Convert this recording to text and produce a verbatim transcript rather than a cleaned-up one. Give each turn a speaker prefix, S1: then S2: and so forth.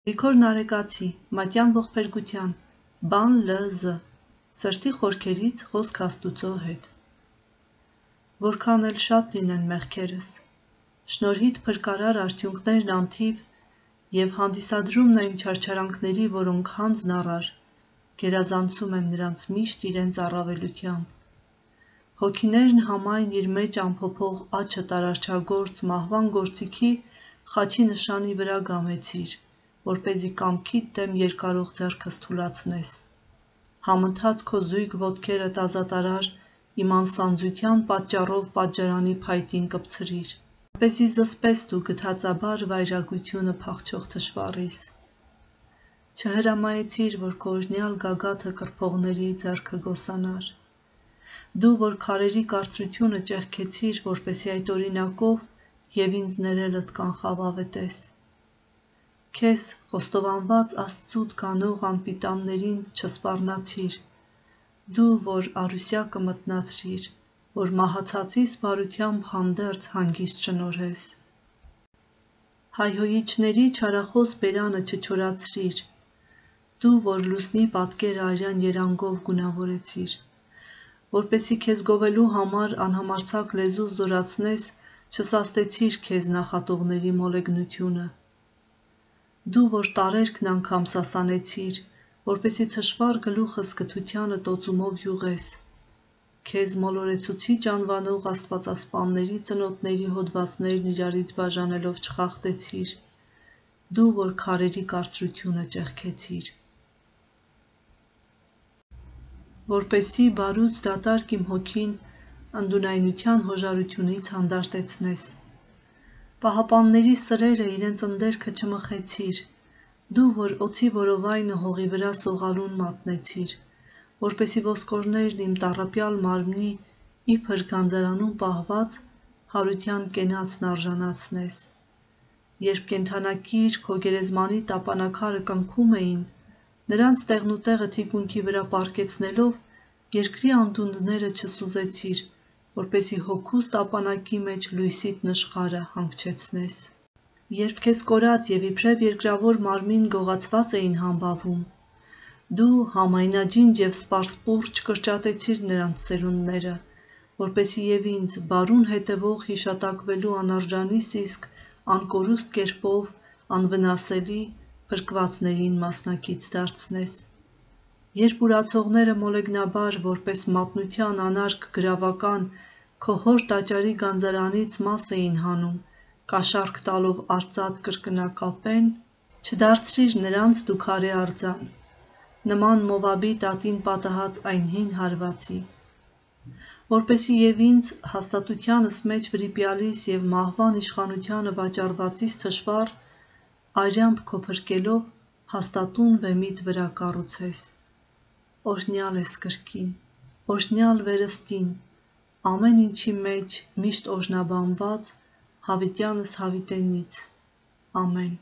S1: Լիքոր նարեկացի, մատյան ողբերգության, բան լզ, սրտի խորքերից խոսք Աստուծո հետ։ Որքան էլ շատ լինեն մեղքերս, շնորհիդ փրկարար արդյունքներն անթիվ և հանդիսադրումն այն չարչարանքների, որոնք հանձն առար, գերազանցում են նրանց միշտ իրենց առավելությամբ։ Հոգիներն համայն իր մեջ ամփոփող աջը տարարչագործ մահվան գործիքի խաչի նշանի վրա գամեցիր, որպեսզի կամքիդ դեմ երկարող ձեռքս թուլացնես։ Համընթաց քո զույգ ոտքերդ ազատարար իմ անսանձության պատճառով պատժարանի փայտին կպցրիր, որպեսզի զսպես դու գթածաբար վայրագությունը փախչող թշվառիս։ Չհրամայեցիր, որ քո օրհնյալ գագաթը կրփողների ձեռքը գոսանար։ Դու, որ քարերի կարծրությունը ճեղքեցիր, որպեսզի այդ օրինակով և ինձ ներելդ կանխավավետես։ Քեզ խոստովանված Աստծուց գանող անպիտաններին չսպառնացիր, դու, որ առուսյակը մթնացրիր, որ մահացածիս բարությամբ հանդերձ հանգիստ շնորհես։ Հայհոյիչների չարախոս բերանը չչորացրիր, դու, որ լուսնի պատկերը արյան երանգով գունավորեցիր, որպեսզի քեզ գովելու համար անհամարձակ լեզու զորացնես, չսաստեցիր քեզ նախատողների մոլեգնությունը։ Դու, որ տարերքն անգամ սասանեցիր, որպեսզի թշվառ գլուխս կթությանը տոծումով յուղես, քեզ մոլորեցուցիչ անվանող աստվածասպանների ծնոտների հոդվածներն իրարից բաժանելով չխախտեցիր, դու, որ քարերի կարծրությունը ճեղքեցիր։ Որպեսզի բարուց դատարկ իմ հոգին ընդունայնության հոժարությունից հանդարտեցնես։ Պահապանների սրերը իրենց ընդերքը չմխեցիր, դու, որ օձի որովայնը հողի վրա սողալուն մատնեցիր, որպեսզի ոսկորներն իմ տառապյալ մարմնի իբր գանձարանում պահված հարության կենացն արժանացնես։ Երբ կենդանակիր քո գերեզմանի տապանաքարը կնքում էին, նրանց տեղնուտեղը թիկունքի վրա պառկեցնելով, երկրի անդունդները չսուզեցիր, որպեսզի հոգուս տապանակի մեջ լույսիդ նշխարը հանգչեցնես։ Երբ քեզ կորած և իբրև երկրավոր մարմին գողացված էին համբավում, դու համայնաջինջ և սպարսպուռ չկրճատեցիր նրանց սերունդները, որպեսզի և ինձ բարուն հետևող հիշատակվելու անարժանի սիսկ անկորուստ կերպով անվնասելի փրկվածներին մասնակից դարձնես։ Երբ ուրացողները մոլեգնաբար, որպես մատնության անարգ գրավական, քո հոր տաճարի գանձարանից մաս էին հանում, կաշառք տալով արծաթ կրկնակապեն, չդարձրիր նրանց դու քարե արձան, նման Մովաբի տատին պատահած այն հին հարվածի, որպեսզի և ինձ հաստատությանս մեջ վրիպյալիս և մահվան իշխանությանը վաճառվածիս թշվառ, արյամբ քո փրկելով հաստատուն վեմիդ վրա կառուցես։ Օրհնյալ ես կրկին, օրհնյալ վերստին, ամեն ինչի մեջ միշտ օրհնաբանված, հավիտյանս հավիտենից։ Ամեն։